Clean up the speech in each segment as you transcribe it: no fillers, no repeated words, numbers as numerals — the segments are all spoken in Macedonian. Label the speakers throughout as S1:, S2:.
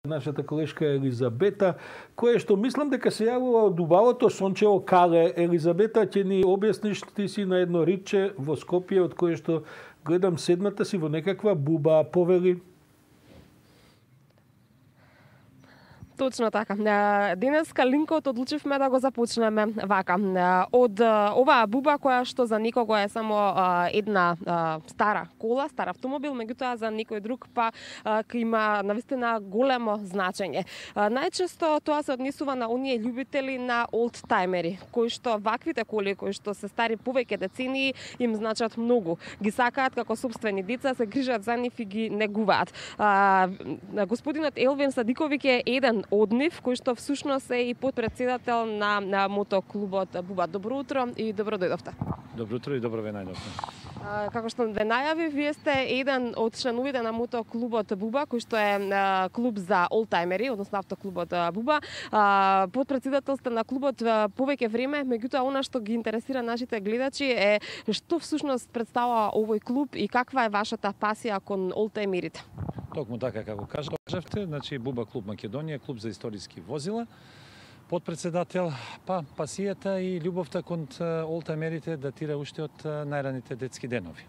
S1: Нашата колешка Елизабета, која што мислам дека се јавува од убавото сончево кале. Елизабета, ќе ни објасниш, ти си на едно ридче во Скопје, од кое што гледам седната си во некаква буба, повели.
S2: Точно така. Денеска линкот одлучивме да го започнеме вака. Од оваа буба која што за некого е само една стара кола, стар автомобил, меѓутоа за некој друг па има навистина големо значење. Најчесто тоа се однесува на оние љубители на олдтаймери, кои што ваквите коли, кои што се стари повеќе децении, им значат многу. Ги сакаат како собствени деца, се грижат за нив и ги негуваат. Господинот Елвин Садиковиќ е еден од нив, кој што всушност е и подпредседател на мотоклубот Буба. Добро утро и добро дојдовте.
S3: Добро утро и добро ве најдовте.
S2: Како што ве најави, вие сте еден од членовите на мотоклубот Буба, кој што е клуб за олдтаймери, односно автоклубот Буба. Подпредседател сте на клубот повеќе време, меѓутоа она што ги интересира нашите гледачи е што всушност представува овој клуб и каква е вашата пасија кон олдтаймерите.
S3: Токму така како кажавте, значи Буба клуб Македонија, клуб за историски возила. Подпредседател, пасијата и љубовта кон олдтаймерите датира уште од најраните детски денови.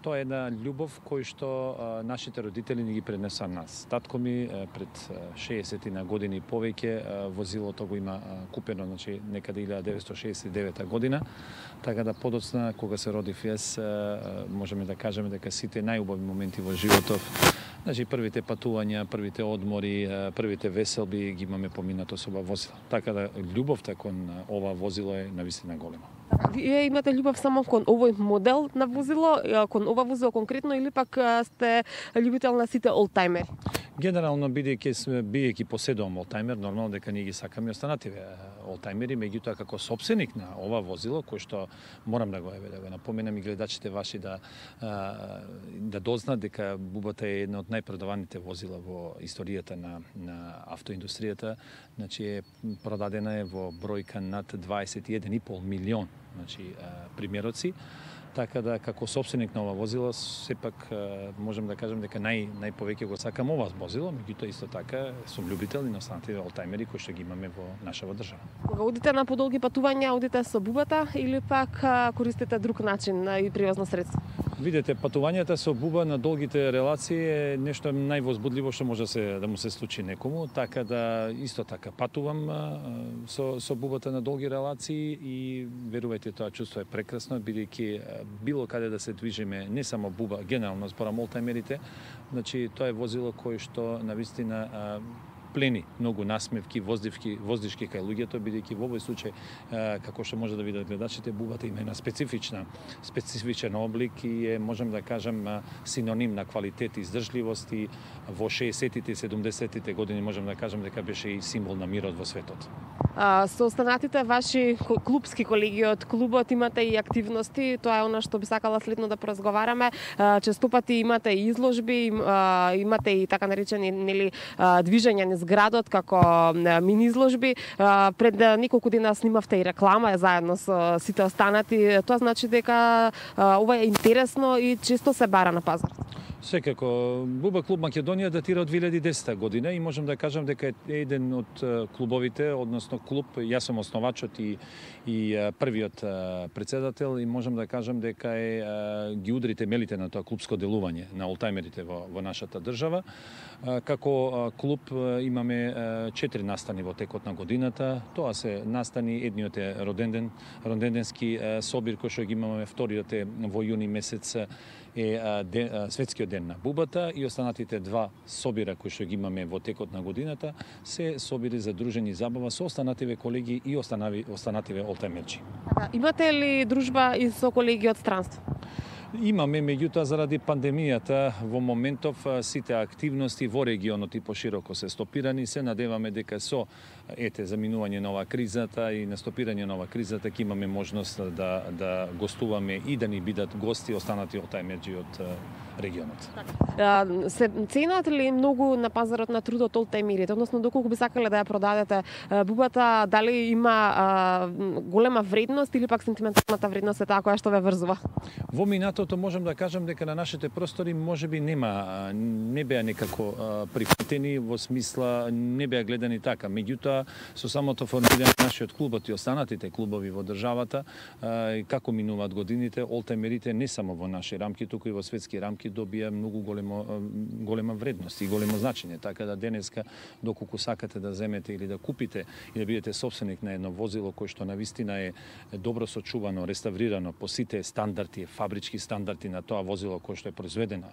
S3: Тоа е една љубов кој што нашите родители ни ги пренеса нас. Татко ми пред 60 на години повеќе возилото го има купено, значи некаде 1969 година, така да подоцна кога се родив јас, можеме да кажеме дека сите најубави моменти во животов, значи првите патувања, првите одмори, првите веселби ги имаме поминато со ова возило. Така да љубовта кон ова возило е навистина голема.
S2: Вие имате љубов само кон овој модел на возило, кон ова возило конкретно, или пак сте љубител на сите олдтаймери?
S3: Генерално, бидејќи поседувам олдтаймер, нормално дека ние ги сакаме останативе олдтаймери, меѓутоа како собственик на ова возило, кој што морам да го напоменам и гледачите ваши да дознаат дека Бубата е една од најпродаваните возила во историјата на автоиндустријата, значи е продадена во бројка над 21,5 милион, значи примероци. Така да како собственик на ова возило сепак можам да кажам дека најповеќе го сакам ова возило, меѓутоа исто така сум љубител и на останатите олдтаймери кои што ги имаме во нашава држава.
S2: Кога одите на подолги патувања, одите со Бубата или пак користите друг начин и превозно средство?
S3: Видете, патувањата со Буба на долгите релации е нешто највозбудливо што може да му се случи некому, така да исто така патувам со Бубата на долги релации и верувајте, тоа чувство е прекрасно, бидејќи било каде да се движиме, не само Буба, генерално зборам олдтаймерите, значи тоа е возило кое што навистина плени многу насмевки, воздишки кај луѓето, бидејќи во овој случај, како што може да видат гледачите, Бубата има една специфичен облик и е, можам да кажам, синоним на квалитет и издржливост и во 60-тите и 70-тите години можам да кажам дека беше и символ на мирот во светот.
S2: Со останатите ваши клубски колеги од клубот имате и активности, тоа е она што би сакала следно да поразговараме. Честопати имате и изложби, имате и така наречени движења низ градот како мини изложби. Пред неколку дена снимавте и реклама заедно со сите останати. Тоа значи дека ова е интересно и често се бара на пазар.
S3: Секако, Буба клуб Македонија датира од 2010 година и можам да кажам дека е еден од клубовите, односно клуб, јас сум основачот и првиот председател и можам да кажам дека ги удри темелите на тоа клубско делување на олдтаймерите во нашата држава. Како клуб имаме 4 настани во текот на годината. Тоа се настани, едниот е роденденски собир кој што ги имаме, вториот е во јуни месец е светскиот ден на Бубата и останатите два собира кои што ги имаме во текот на годината се собири за дружење и забава со останативе колеги и останативе олдтаймерчи.
S2: Имате ли дружба и со колеги од странство?
S3: Имаме, меѓутоа заради пандемијата во моментов сите активности во регионот и пошироко се стопирани. Се надеваме дека со заминување на оваа кризата и настопирање на оваа кризата ќе имаме можност да гостуваме и да ни бидат гости останати олдтаймерџи од регионот.
S2: Се ценат ли многу на пазарот на трудот олтајмерите, односно доколку би сакале да ја продадете бубата, дали има голема вредност или пак сентименталната вредност е таа која што ве врзува?
S3: Во минатото можам да кажам дека на нашите простори можеби не беа некако прифатени во смисла не беа гледани така. Меѓутоа со самото формирање на нашиот клубот и останатите клубови во државата, како минуваат годините, олтајмерите не само во наши рамки, туку и во светски рамки добија многу голема вредност и големо значење. Така да денеска, доколку сакате да земете или да купите и да бидете собственик на едно возило кој што навистина е добро сочувано, реставрирано по сите стандарди, фабрички стандарди на тоа возило кое што е произведено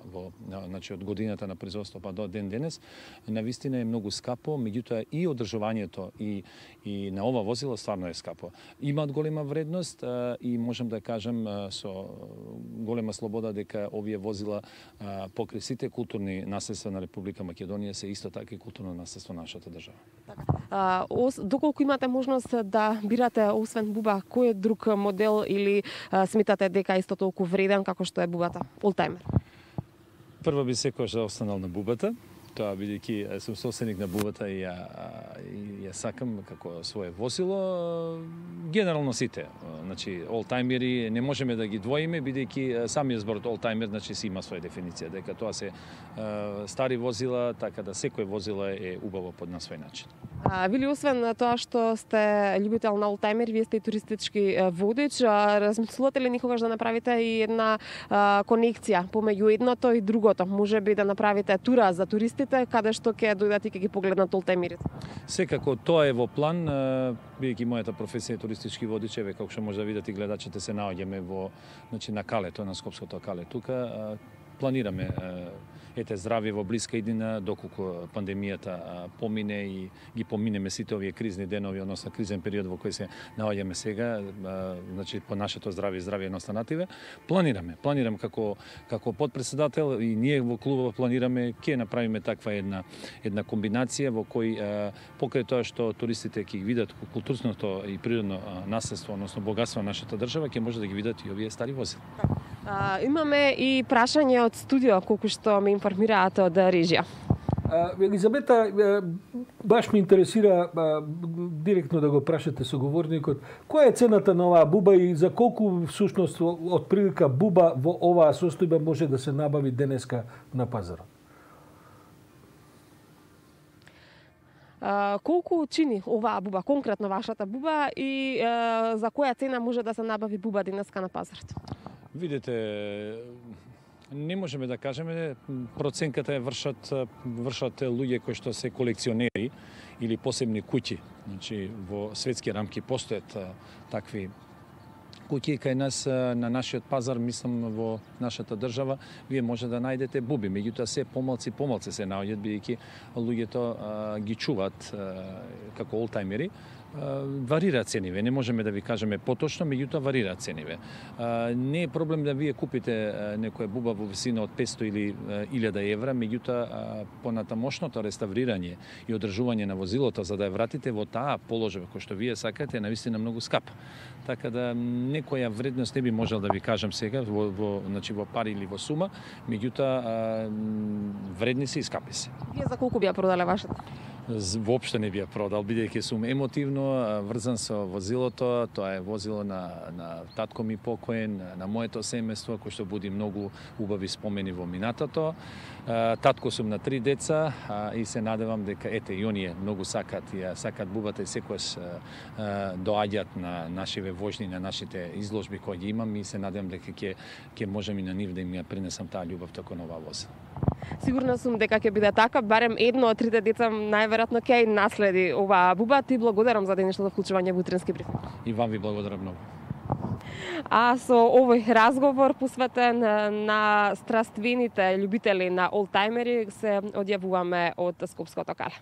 S3: значи од годината на производство па до ден денес, навистина е многу скапо, меѓутоа и одржувањето и на ова возило стварно е скапо. Имаат голема вредност и можам да кажам со голема слобода дека овие возила покрај сите културни наследства на Република Македонија се исто така и културно наследство на нашата држава.
S2: Доколку имате можност да бирате освен буба, кој е друг модел или сметате дека исто толку вреден како што е бубата олтајмер?
S3: Прво би секојаш да останал на бубата. Тоа бидејќи сум собственик на бубата и ја сакам како свое возило. Генерално сите, значи олтајмери не можеме да ги двоиме бидејќи самиот зборот олтајмер значи си има своја дефиниција, дека тоа се стари возила, така да секој возило е убаво на свој начин.
S2: Вили, освен тоа што сте љубител на олтајмер, вие сте и туристички водич. Размислувате ли никогаш да направите и една конекција помеѓу едното и другото? Можеби да направите тура за туристите, каде што ќе дојдат и ќе ги погледнат олтајмерите?
S3: Секако тоа е во план, бидејќи мојата професија е туристички водич, еве како што може да видите гледачите се наоѓаме во значи на Калето, на Скопското Кале. Тука планираме здравје во блиска иднина, доколку пандемијата помине и ги поминеме сите овие кризни денови, односно кризен период во кој се наоѓаме сега, значи по нашето здравје на останативе, планираме како подпредседател и ние во клубот планираме ќе направиме таква една комбинација во кој покрај тоа што туристите ќе видат културното и природно наследство, односно богатство на нашата држава, ќе може да ги видат и овие стари возила.
S2: Имаме и прашање од студио, колку што ме информираат од режија.
S1: Елизабета, баш ме интересира директно да го прашате соговорникот, која е цената на оваа буба и за колку всушност од прилика буба во оваа состојба може да се набави денеска на пазарот?
S2: Колку чини оваа буба, конкретно вашата буба и за која цена може да се набави буба денеска на пазарот?
S3: Видете, не можеме да кажеме, проценката е вршат луѓе кои што се колекционери или посебни куќи. Значи во светски рамки постојат такви куќи кај нас на нашиот пазар, мислам во нашата држава, вие може да најдете буби, меѓутоа се помалци се наоѓаат бидејќи луѓето ги чуваат како олтајмери. Варираат цениве, не можеме да ви кажеме поточно, меѓутоа варираат цениве. Не е проблем да вие купите некоја буба во висина од 500 или 1000 евра, меѓутоа понатамошното реставрирање и одржување на возилото за да ја вратите во таа положба кој што вие сакате е навистина многу скап. Така да некоја вредност не би можел да ви кажам сега значи во пари или во сума, меѓутоа вредни се и скапи се.
S2: Вие за колку би ја продале вашата?
S3: Воопшто не би ја продал, бидејќи сум емотивно врзан со возилото. Тоа е возило на татко ми покоен, на моето семејство, кој што буди многу убави спомени во минатото. Татко сум на 3 деца и се надевам дека и оние многу сакат бубата и секојаш доаѓаат на нашиве вожни, на нашите изложби кои ги имам и се надевам дека ќе можам и на нив да им ја пренесам таа љубов како на оваа возила.
S2: Сигурна сум дека ќе биде така, барем едно од 3 деца најверојатно ќе наследи оваа буба. Ти благодарам за денешното вклучување во утренски брифинг.
S3: И вам ви благодарам многу.
S2: А со овој разговор посветен на страствените љубители на олтајмери се одјавуваме од Скопското Кале.